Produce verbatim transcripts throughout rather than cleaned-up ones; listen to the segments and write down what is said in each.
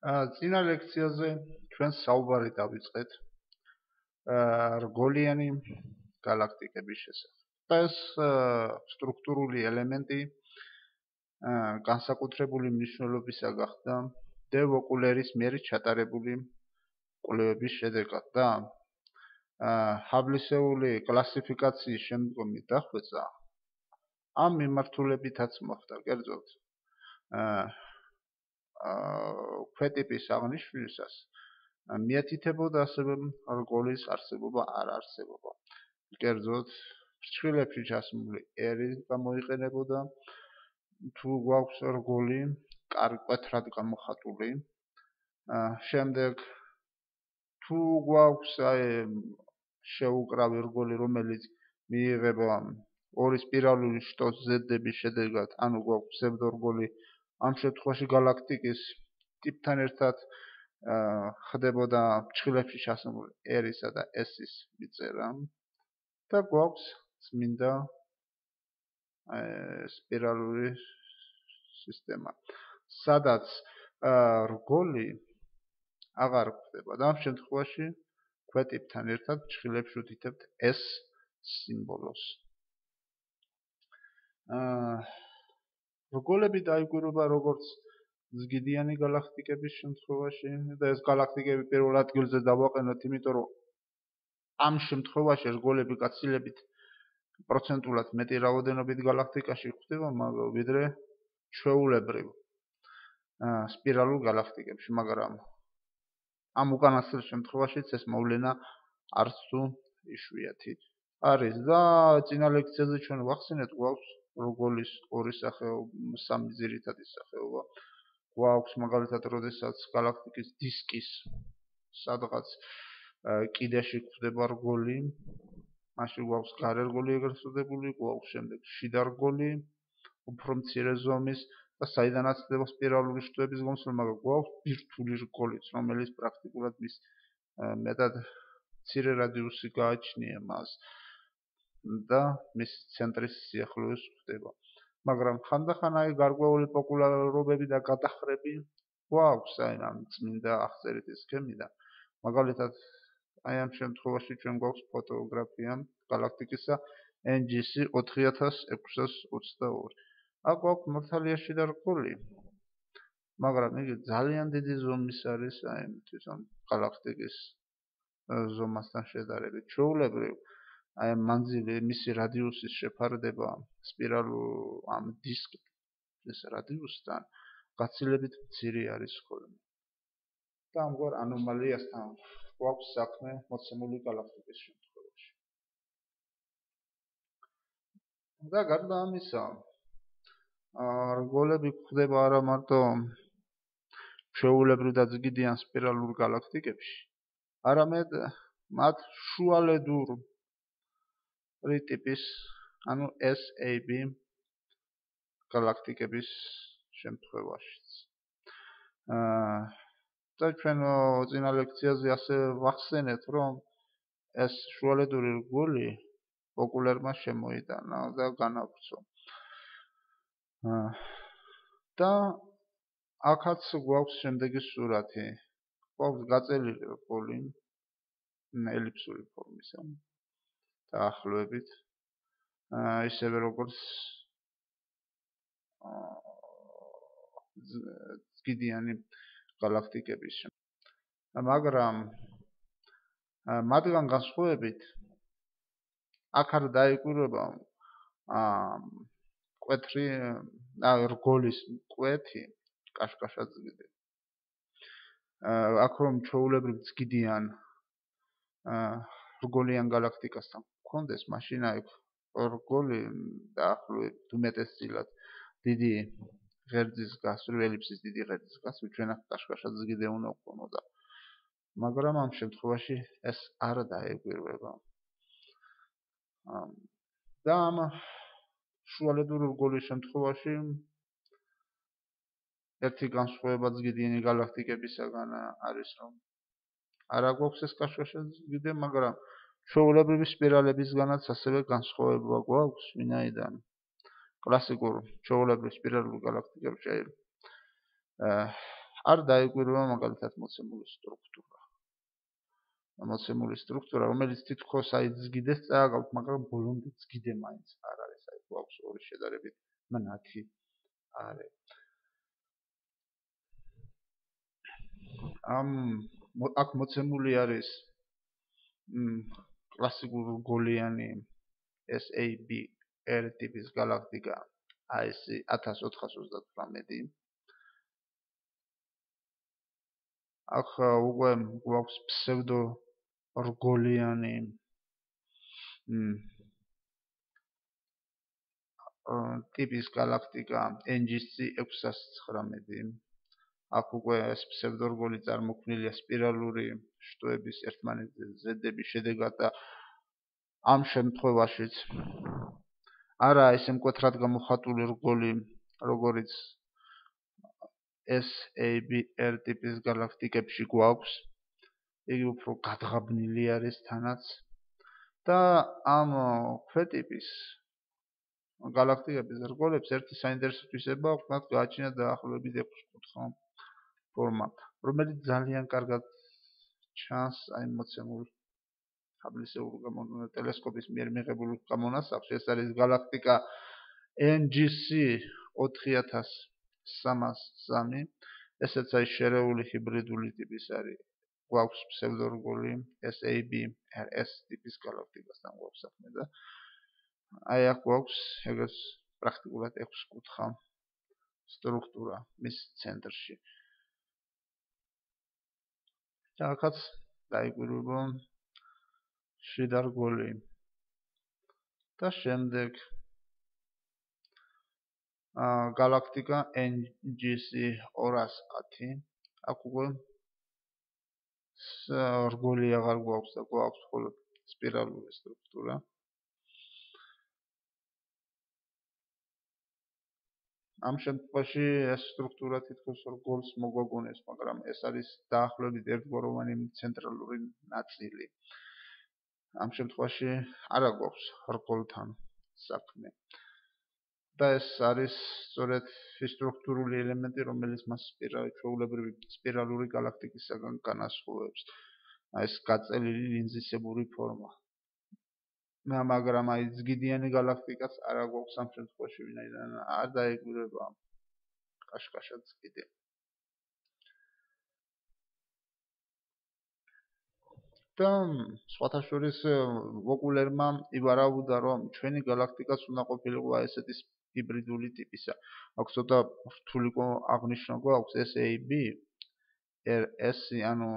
წინა ლექციაზე ჩვენ საუბარი დავიწყეთ რგოლიანი galaktikების შესახებ. ეს სტრუქტურული ელემენტი განსაკუთრებული მნიშვნელობისა გახდა დე ვოკულერის მიერ ჩატარებული კვლევების შედეგად და ჰაბლისეული კლასიფიკაციის შემდგომი დახვეწა ამ მიმართულებითაც მოხდა, კერძოდ ქვეტიპის აღნიშვნისას მიეთითებოდა ასევე რგოლის არსებობა არ არსებობა. კერძოდ ფრჩხილებში ჩასმული ერი გამოიყენებოდა თუ გვაქვს რგოლი კარკვეთრად გამოხატული. შემდეგ თუ გვაქვს აი შეუკრავი რგოლი, რომელიც მიიღება ორი სპირალური შტოს ზედების შედეგად, ანუ გვაქვს ფსევდორგოლი, ამ შემთხვევაში galaktikis ტიპთან ერთად ხდებოდა ფრჩხილებში ჩასმული ერისა და S-ის მიწერა და გვაქვს წმინდა სპირალური სისტემა, სადაც რგოლი აღარ ხდება და ამ შემთხვევაში ქვეტიპთან ერთად ფრჩხილებში უთითებთ S სიმბოლოს. რგოლები დაიკვირვება როგორც ზგიდიანი galaktikების შემთხვევაში და ეს galaktikები პირველ ადგილზე დავაყენოთ, იმიტომ რომ ამ შემთხვევაში რგოლები გაცილებით პროცენტულად მეტი რაოდენობით galaktikაში გვხვდება, ვიდრე ჩვეულებრივ სპირალურ galaktikებში, მაგრამ ამ უკანასკნელ შემთხვევაშიც ეს მოვლენა არც თუ იშვიათი არის და წინა ლექციაზე ჩვენ ვახსენეთ, გვაქვს რგოლის ორი სახეობა, სამი ძირითადი სახეობა. გვაქვს მაგალითად, როდესაც galaktikis დისკის სადღაც კიდეში გვხვდება რგოლი, მაშინ გვაქვს გარე რგოლი ეგრეთ წოდებული, გვაქვს შემდეგ შიდა რგოლი, უფრო მცირე ზომის და საიდანაც ხდება სპირალური შტოების გამოსვლა, მაგრამ გვაქვს ბირთვული რგოლიც, რომელიც პრაქტიკულად მის მეტად მცირე რადიუსი გააჩნია მას და მის ცენტრის სიახლოვეს ხდება. მაგრამ ხანდახან აი გარკვეული პოპულარობები და გადახრები გვაქვს აი ამ წმინდა აღწერითი სქემიდან. მაგალითად, აი ამ შემთხვევაში ჩვენ გვაქვს ფოტოგრაფია galaktikis-ა N G C ოთხი ათას ექვსას ოცდაორი. აქ გვაქვს მართალია შიდა რგოლი, მაგრამ იგი ძალიან დიდი ზომის არის აი თვითონ galaktikis ზომასთან შედარებით. ჩვეულებრივ აი მანძილი, მისი რადიუსის შეფარდება სპირალურ ამ დისკის რადიუსთან გაცილებით მცირე არის ხოლმე. და ამგვარ ანომალიასთან გვაქვს საქმე მოცემული galaktikis შემთხვევაში. და გარდა ამისა, რგოლები გვხვდება არა მარტო ჩვეულებრივ და ზგიდიან სპირალურ galaktikებში, არამედ მათ შუალედურ ტიპის, ანუ S A B galaktikების შემთხვევაშიც. და ჩვენ წინა ლექციაზე ასე ვახსენეთ, რომ ეს შუალედური რგოლი პოპულარმა შემოიტანა და განავრცო. და აქაც გვაქვს შემდეგი სურათი. გვაქვს გაწელილი რგოლი ელიფსური ფორმისა. დაახლოებით ისევე როგორც ზგიდიანი galaktikების. მაგრამ მათგან განსხვავებით აქ არ დაიკვირვება კვეთრი რგოლის კვეთი კაშკაშაძგიდე. აქ რომ ჩვეულებრივ ზგიდიან რგოლიან galaktikasთან გქონდეს, მაშინ აი რგოლი დაახლოებით უმეტესწილად დიდი ღერძის გასწვრივ, ელიფსის დიდი ღერძის გასწვრივ ჩვენ აქ კაშკაშაძგიდე უნდა ვქონოდა. მაგრამ ამ შემთხვევაში ეს არ დაეკვირვება. და ამ შუალედური რგოლის შემთხვევაში ერთი განსხვავება ზგიდიანი galaktikებისაგან არის, რომ არა გვაქვს ეს კაშკაშაძგიდე, მაგრამ ჩვეულებრივი სპირალებისგანაც ასევე განსხვავება გვაქვს, ვინაიდან კლასიკურ ჩვეულებრივ სპირალურ galaktikებში არ დაიკვირვება მაგალითად მოცემული სტრუქტურა. მოცემული სტრუქტურა, რომელიც თითქოს აი ზგიდეს წააგავთ, მაგრამ ბოლომდე ზგიდე მაინც არ არის, აი გვაქვს ორი შედარებით მნათი არე. ამ აქ მოცემული არის კლასიკური რგოლიანი S A B R ტიპის galaktika A S ათას ოთხას ოცდათვრამეტი. აქ უკვე გვაქვს ფსევდო რგოლიანი ტიპის galaktika N G C ექვსას ცხრამეტი. აქ უკვე ეს ფსევდო რგოლი წარმოქმნილია სპირალური შტოების ერთმანეთზე ზედების შედეგად და ამ შემთხვევაშიც არა ესე მკვეთრად გამოხატული რგოლი, როგორც S A B R ტიპის galaktikებში გვაქვს. იგი უფრო გადღაბნილი არის თანაც და ამ ქვეტიპის galaktikების რგოლებს ერთი საინტერესო თვისება აქვს, მათ გააჩნია დაახლოებით ექვსკუთხა ფორმა, რომელიც ძალიან კარგად ჩანს აი მოცემულ აბლისეულ ტელესკოპის მიერ მიღებულ გამონასახში. ეს არის galaktika N G C ოთხი ათას სამას სამი. ესეც აი შერეული ჰიბრიდული ტიპის არის. გვაქვს ფსევდო რგოლი S A B R S ტიპის galaktikasთან გვაქვს საქმე და აი აქ გვაქვს ეგრეთ პრაქტიკულად ექვსკუთხა სტრუქტურა მის ცენტრში. და აქაც დაიკვირვება შიდა რგოლი და შემდეგ galaktika N G C ორას ათი. აქ უკვე რგოლი აღარ გვაქვს და გვაქვს მხოლოდ სპირალური სტრუქტურა. ამ შემთხვევაში ეს სტრუქტურა თითქოს რგოლს მოგვაგონებს, მაგრამ ეს არის დაახლოებით ერთგვაროვანი ცენტრალური ნაწილი. ამ შემთხვევაში არა გვაქვს რგოლთან საქმე. და ეს არის სწორედ ის სტრუქტურული ელემენტი, რომელიც მას ჩვეულებრივი სპირალური galaktikისაგან განასხვავებს. აი ეს გაწელილი ლინზისებური ფორმა. მაგრამ აი ზგიდიანი galaktikაც არა გვაქვს ამ შემთხვევაში, ვინაიდან არ დაეკვირვება კაშკაშად ზგიდე. და სხვათა შორის ვოკულერმა ივარაუდა, რომ ჩვენი galaktikაც უნდა ყოფილიყო ესეთი ჰიბრიდული ტიპისა. აქ ცოტა რთული აღნიშნა გვაქვს S A B R S, ანუ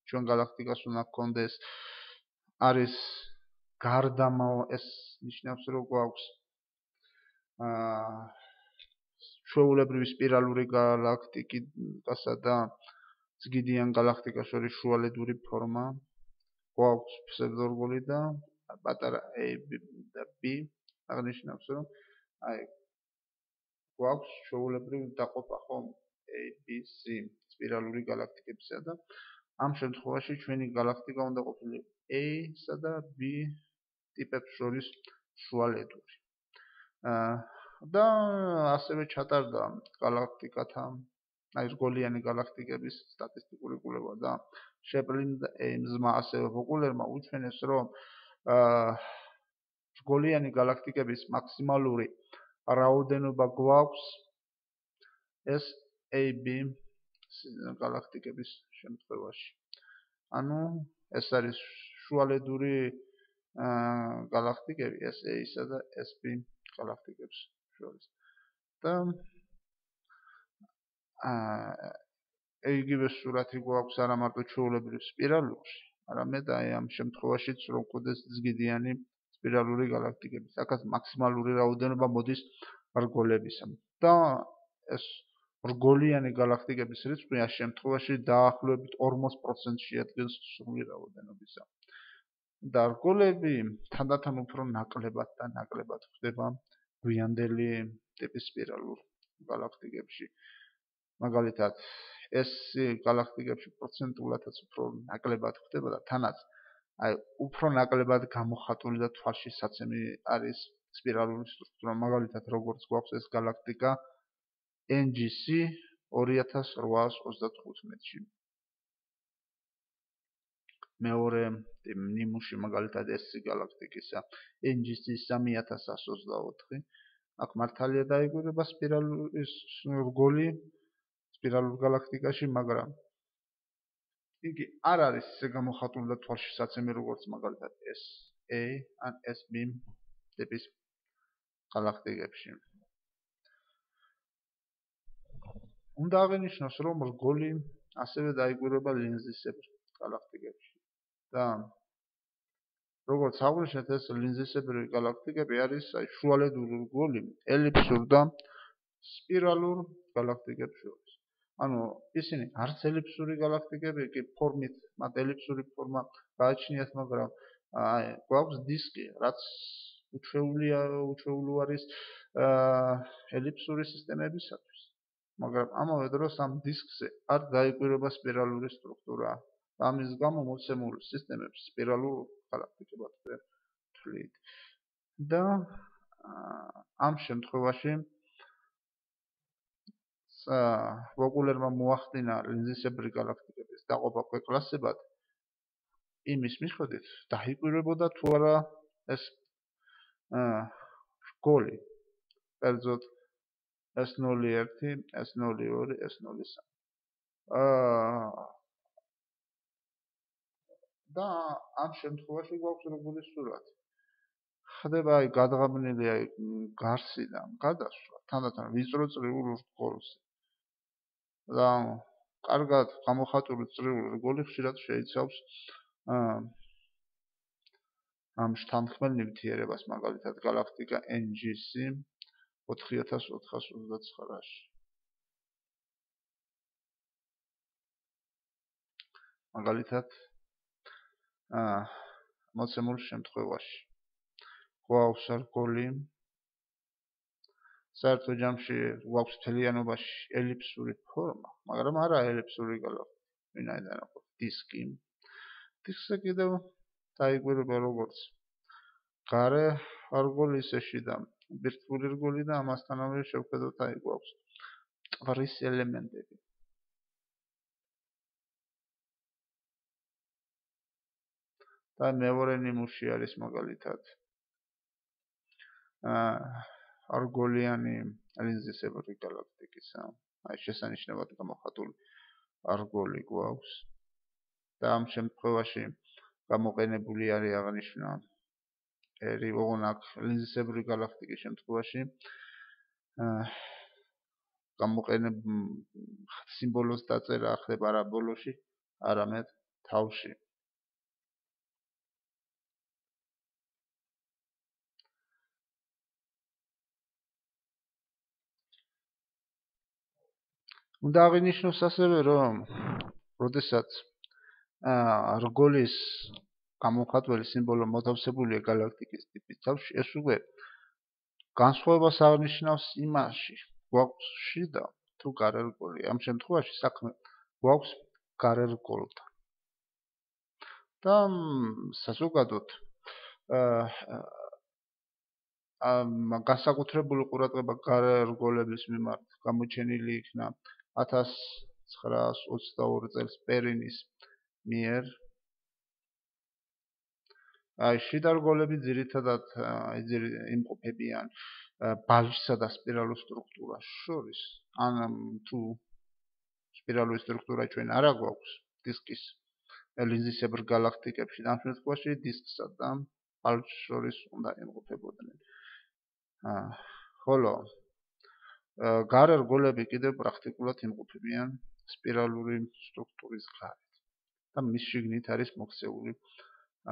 ჩვენ galaktikას უნდა გქონდეს არის გარდამავალ ეს ნიშნავს, რომ გვაქვს აა ჩვეულებრივი სპირალური galaktikასა და ზგიდიან galaktikas შორის შუალედური ფორმა. გვაქვს ფსევდო რგოლი და პატარა A და B აღნიშნავს, რომ აი გვაქვს ჩვეულებრივი დაყოფა ხომ A B C სპირალური galaktikებისა და ამ შემთხვევაში ჩვენი galaktika უნდა ყოფილიყო A-სა და B ტიპებს შორის შუალედური. აა და ასევე ჩატარდა galaktikათა აი რგოლიანი galaktikების სტატისტიკური კვლევა და შეპრინდა ეიმზმა ასევე ვოკულერმა უჩვენეს, რომ აა რგოლიანი galaktikების მაქსიმალური რაოდენობა გვაქვს S A B galaktikების შემთხვევაში. ანუ ეს არის შუალედური აა galaktikები S A-სა და S B galaktikებს შორის. და აა იგივე სურათი გვაქვს არა მარტო ჩვეულებრივ სპირალურში, არამედ აი ამ შემთხვევაშიც რომ გქონდეს ზგიდიანი სპირალური galaktikები. აქაც მაქსიმალური რაოდენობა მოდის რგოლებისა. და ეს რგოლიანი galaktikების რიცხვი ამ შემთხვევაში დაახლოებით ორმოც პროცენტს შეადგენს სრული რაოდენობისა. და რგოლები თანდათან უფრო ნაკლებად და ნაკლებად ხდება გვიანდელი ტიპის სპირალურ galaktikებში. მაგალითად, ეს galaktikებში პროცენტულადაც უფრო ნაკლებად ხდება და თანაც აი უფრო ნაკლებად გამოხატული და თვალში საცემი არის სპირალური სტრუქტურა. მაგალითად, როგორც გვაქვს ეს galaktika N G C ორი ათას რვაას ოცდათხუთმეტში. მეორე ნიმუში მაგალითად ეს გალაქტიკისა N G C სამი ათას ასი ოცდაოთხი. აქ მართალია დაიგურება სპირალური რგოლი სპირალურ გალაქტიკაში, მაგრამ იგი არ არის ისე გამოხატული და თვალშისაცემი როგორც მაგალითად S A ან S B ტიპის გალაქტიკებში. უნდა აღინიშნოს, რომ რგოლი ასევე დაიგურება ლინზისებრ გალაქტიკებში. და როგორც აღვნიშნეთ, ეს ლინზისებრი გალაქტიკები არის შუალედური რგოლი ელიფსურ და სპირალურ გალაქტიკებს შორის. ანუ ისინი არც ელიფსური გალაქტიკები კი ფორმით, მათ ელიფსური ფორმა გააჩნიათ, მაგრამ აი გვაქვს დისკი, რაც უჩვეულია, უჩვეულო არის ელიფსური სისტემებისათვის. მაგრამ ამავე დროს ამ დისკზე არ დაიგურება სპირალური სტრუქტურა. ამის გამო მოცემულ სისტემებს სპირალურ გალაქტიკებად ვთვლით. და ამ შემთხვევაში ვოკულერმა მოახდინა ლინზისებრი გალაქტიკების დაყოფა ქვეკლასებად იმის მიხედვით დაიკვირვებოდა თუ არა ეს რგოლი კერძოდ S ნული ერთი, S ნული ორი, S ნული სამი. და ამ შემთხვევაში გვაქვს რგოლის სურათი. ხდება აი გადაღებნილი აი გარსიდან გადასვლა, თანდათან ვიწრო წრიულ რგოლზე. და კარგად გამოხატული წრიული რგოლი ხშირად შეიცავს ამ შთანხმელ ნივთიერებას, მაგალითად გალაქტიკა N G C ოთხი ათას ოთხას ოცდაცხრაში. მაგალითად აა მოცემულ შემთხვევაში გვაქვს რგოლი საერთო ჯამში გვაქვს მთლიანობაში ელიფსური ფორმა, მაგრამ არა ელიფსური გალაქტიკა, ვინაიდან აქვს დისკი. დისკზე კიდევ დაიკვირვება როგორც გარე რგოლი, ისე შიდა ბირთვული რგოლი და ამასთანავე შევხედოთ აი გვაქვს ტვრის ელემენტები. და მეორე ნიმუში არის მაგალითად აა რგოლიანი ლინზისებრი გალაქტიკისა. აი შესანიშნავად გამოხატული რგოლი გვაქვს. და ამ შემთხვევაში გამოყენებული არის აღნიშნა ერი ოღონდ ლინზისებრი გალაქტიკის შემთხვევაში აა გამოყენებ სიმბოლოს დაწერა ხდება არა ბოლოში, არამედ თავში. უნდა აღინიშნოს ასევე, რომ როდესაც აა რგოლის გამოხატველი სიმბოლო მოთავსებულია გალაქტიკის ტიპის თავში, ეს უკვე განსხვავებას აღნიშნავს იმაში, გვაქვს შიდა თუ გარე რგოლი. ამ შემთხვევაში საქმე გვაქვს გარე რგოლთან. და საზოგადოდ აა განსაკუთრებული ყურადღება გარე რგოლების მიმართ გამოჩენილი იქნა ათას ცხრაას ოცდაორი წელს პერინის მიერ. აი შიდა რგოლები ძირითადად იმყოფებიან ბალჟსა და სპირალურ სტრუქტურას შორის. ან თუ სპირალური სტრუქტურა ჩვენ არა გვაქვს დისკის ლინზისებრ გალაქტიკებში, ამ შემთხვევაში დისკსა და ბალჟს შორის უნდა იმყოფებოდნენ. აა ხოლო გარე რგოლები კიდევ პრაქტიკულად იმყოფებიან სპირალური სტრუქტურის გარეთ. და მის შიგნით არის მოქცეული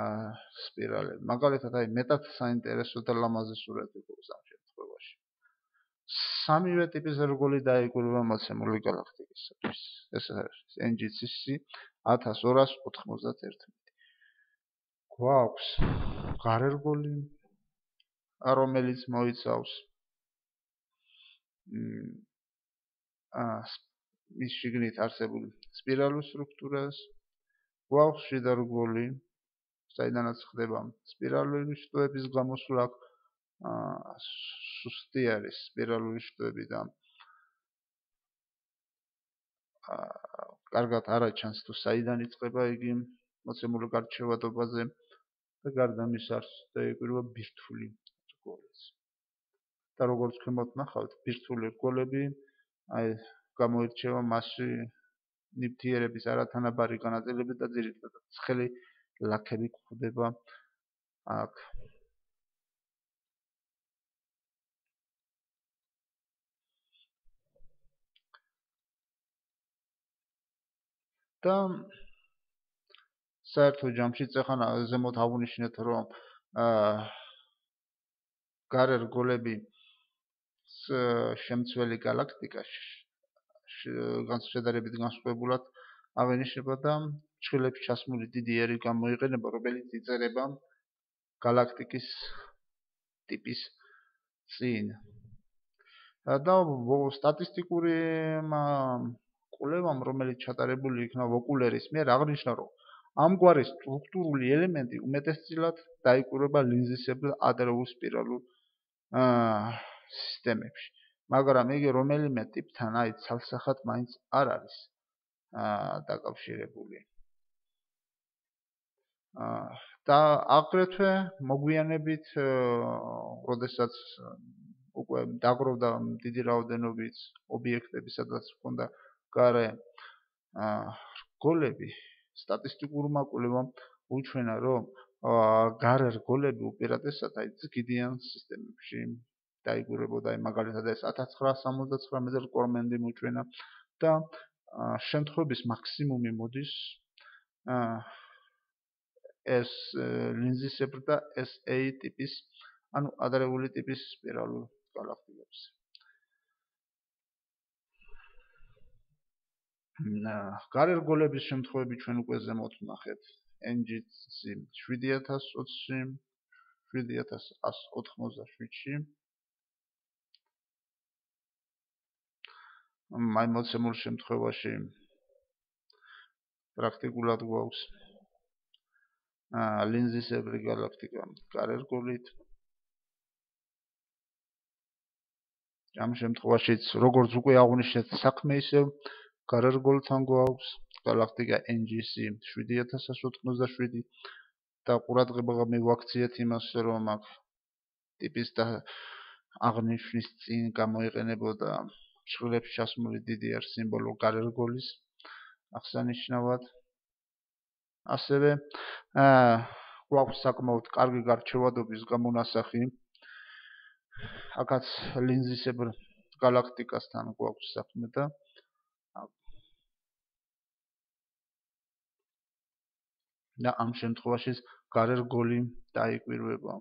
აა სპირალები. მაგალითად, აი მეტად საინტერესო და ლამაზი სურათი გვაქვს ამ შემთხვევაში. სამივე ტიპის რგოლი დაიკვირვება მოცემული გალაქტიკისათვის. ეს არის N G C ათას ორას ოთხმოცდაერთი. გვაქვს გარე რგოლი, რომელიც მოიცავს აა მის შიგნით არსებულ სპირალურ სტრუქტურას. გვაქვს შიდა რგოლი, საიდანაც ხდება სპირალური შტოების გამოსვლა. აა სუსტი არის სპირალური შტოები და კარგად არ აჩანს თუ საიდან იწყება იგი მოცემული გარჩევადობაზე და გარდა მის არის დაიკვირვა ბირთვული რგოლიც. და როგორც ქვემოთ ნახავთ, ბირთვული რგოლები აი გამოირჩევა მასში ნივთიერების არათანაბარი განაწილებით და ძირითადად ცხელი ლაქები გვხვდება აქ. და საერთო ჯამში ეხლა ზემოთ აღვნიშნეთ, რომ გარე რგოლები შემცველი გალაქტიკაში განსხვავებით განსხვავებულად აღინიშნება და ჩხილებში ჩასმული დიდი ერი გამოიყენება, რომელიც იწერება გალაქტიკის ტიპის წინ. და სტატისტიკური კვლევამ, რომელიც ჩატარებული იქნა ვოკულერის მიერ, აღნიშნა, რომ ამგვარი სტრუქტურული ელემენტი უმეტესწილად დაიკვირვება ლინზისებრ ადრეულ სპირალურ სისტემებში. მაგრამ იგი რომელიმე ტიპთან აი ცალსახად მაინც არ არის დაკავშირებული. და აგრეთვე მოგვიანებით, როდესაც უკვე დაგროვდა დიდი რაოდენობით ობიექტები, სადაც ჰქონდა გარე რგოლები, სტატისტიკურმა კვლევამ უჩვენა, რომ გარე რგოლები უპირატესად აი ზგიდიან სისტემებში დაიკვირვებოდა, აი მაგალითად ეს ათას ცხრაასი სამოცდაცხრამეტი რკორმენდი მოჩვენა და შემთხვევების მაქსიმუმი მოდის ეს ლინზისებრ და ეს ეი ტიპის, ანუ ადრეული ტიპის სპირალურ გალაქტიკებზე. გარე რგოლების შემთხვევები ჩვენ უკვე ზემოთ ვნახეთ ენ ჯი სი შვიდი ათას ოცში, შვიდი ათას ათს ოთხმოცდაშვიდში. აი მოცემულ შემთხვევაში პრაქტიკულად გვაქვს ლინზისებრი გალაქტიკა გარე რგოლით. ამ შემთხვევაშიც, როგორც უკვე აღვნიშნეთ, საქმე ისევ გარე რგოლთან გვაქვს გალაქტიკა ენ ჯი სი შვიდი ათას ათს ოთხმოცდაშვიდი და ყურადღება მივაქციეთ იმას, რომ აქ ტიპის და აღნიშვნის წინ გამოიყენებოდა ჩხილებში ჩასმული დიდი ერ სიმბოლო გარე რგოლის აღსანიშნავად. ასევე გვაქვს საკმაოდ კარგი გარჩევადობის გამონასახი. აქაც ლინზისებრ გალაქტიკასთან გვაქვს საქმე და და ამ შემთხვევაში გარე რგოლი დაიკვირვება.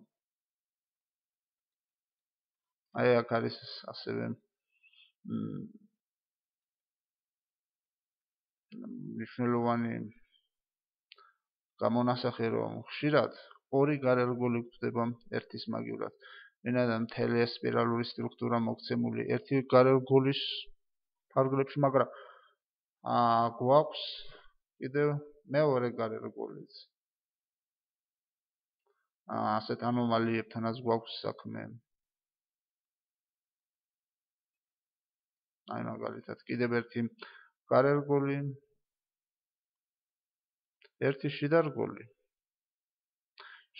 აი აქ არის ასევე მნიშვნელოვანი გამონასახე, რომ ხშირად ორი გარე რგოლი გვხვდება ერთის მაგივრად. ვინაიდან მთელი ეს სპირალური სტრუქტურა მოქცემული ერთი გარე რგოლის ფარგლებში, მაგრამ გვაქვს კიდევ მეორე გარე რგოლიც. ასეთ ანომალიებთანაც გვაქვს საქმე. აი მაგალითად კიდევ ერთი გარე რგოლი, ერთი შიდა რგოლი.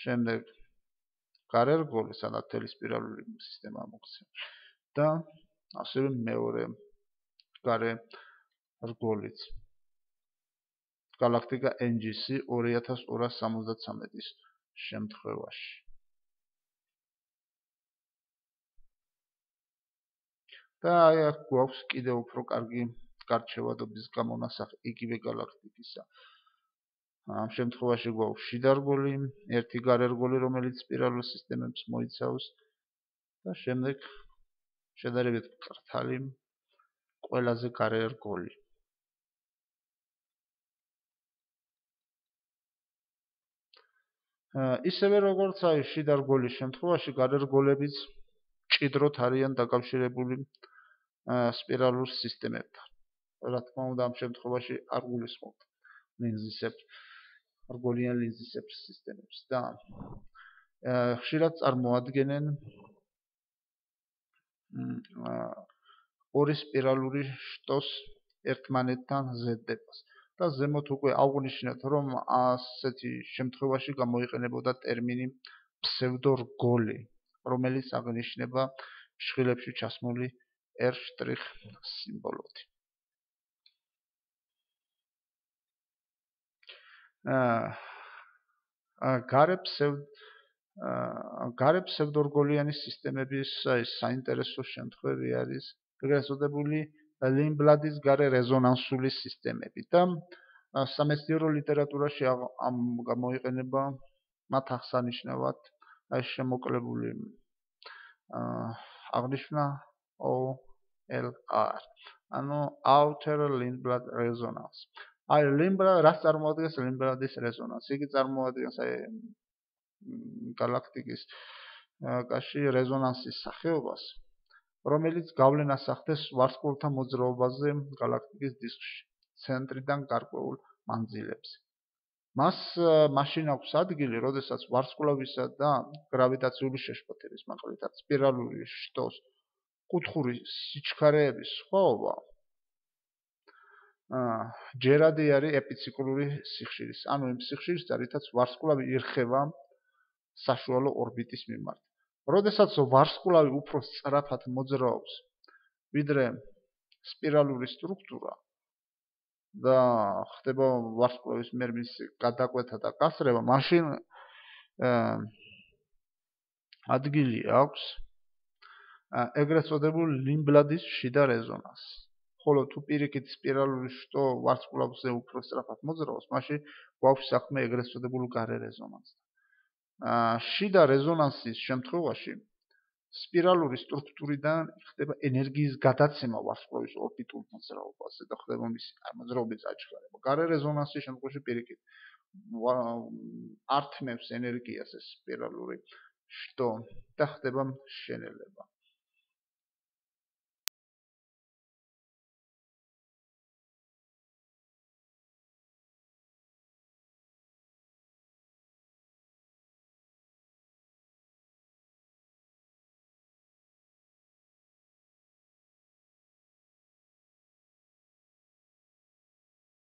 შემდეგ გარე რგოლი, სადაც მთელი სპირალური სისტემა მოქცეულია და ასევე მეორე გარე რგოლიც. გალაქტიკა ენ ჯი სი ორი ათას ორასი სამოცდათრამეტის შემთხვევაში. და აი აქ გვაქვს კიდევ უფრო კარგი გარჩევადობის გამონასახი იგივე გალაქტიკისა. ამ შემთხვევაში გვაქვს შიდა რგოლი, ერთი გარე რგოლი, რომელიც სპირალურ სისტემებს მოიცავს და შემდეგ შედარებით მკრთალი ყველაზე გარე რგოლი. ისევე როგორც აი შიდა რგოლის შემთხვევაში, გარე რგოლებიც მჭიდროდ არიან დაკავშირებული სპირალურ სისტემებთან. რა თქმა უნდა, ამ შემთხვევაში არ გულისხმობთ ლინზისებრ რგოლიან ლინზისებრ სისტემებს და ხშირად წარმოადგენენ ორი სპირალური შტოს ერთმანეთთან ზედდებას. და ზემოთ უკვე აღვნიშნეთ, რომ ასეთი შემთხვევაში გამოიყენებოდა ტერმინი ფსევდორგოლი, რომელიც აღნიშნება შხილებში ჩასმული R' სიმბოლოთი. გარე ფსევდორგოლიანი სისტემების საინტერესო შემთხვევი არის ეგრეთ წოდებული ლიმბლადის გარე რეზონანსული სისტემები და სამეცნიერო ლიტერატურაში ამ გამოიყენება მათ აღსანიშნავად აი შემოკლებული აღნიშნა O L R, ანუ outer limblad resonance. აი ლიმბლად რას წარმოადგენს ლიმბლადის რეზონანსი? იგი წარმოადგენს აი galaktikis კაში რეზონანსის სახეობას, რომელიც გავლენას ახდენს ვარსკვლავთა მოძრაობაზე galaktikis დისკში, ცენტრიდან გარკვეულ მანძილებზე. მას მაშინ აქვს ადგილი, როდესაც ვარსკვლავისა და გრავიტაციული შეშფოთების მაგალითად სპირალური შტოს კუთხური სიჩქარეების სხვაობა ჯერადი არის ეპიციკლური სიხშირის, ანუ იმ სიხშირისა, რითაც ვარსკვლავი ირხევა საშუალო ორბიტის მიმართ. როდესაც ვარსკვლავი უფრო სწრაფად მოძრაობს, ვიდრე სპირალური სტრუქტურა და ხდება ვარსკვლავის მიერ მისი გადაკვეთა და გასრევა, მაშინ ადგილი აქვს ეგრეთ წოდებულ ლიმბლადის შიდა რეზონანსს. ხოლო თუ პირიქით სპირალური შტო ვარსკვლავზე უფრო სწრაფად მოძრაობს, მაშინ გვაქვს საქმე ეგრეთ წოდებულ გარე რეზონანსთან. შიდა რეზონანსის შემთხვევაში სპირალური სტრუქტურიდან ხდება ენერგიის გადაცემა ვარსკვლავის ორბიტულ მოძრაობაზე და ხდება მისი მოძრაობის აჩქარება. გარე რეზონანსის შემთხვევაში პირიქით ართმევს ენერგიას ეს სპირალური შტო და ხდება შენელება.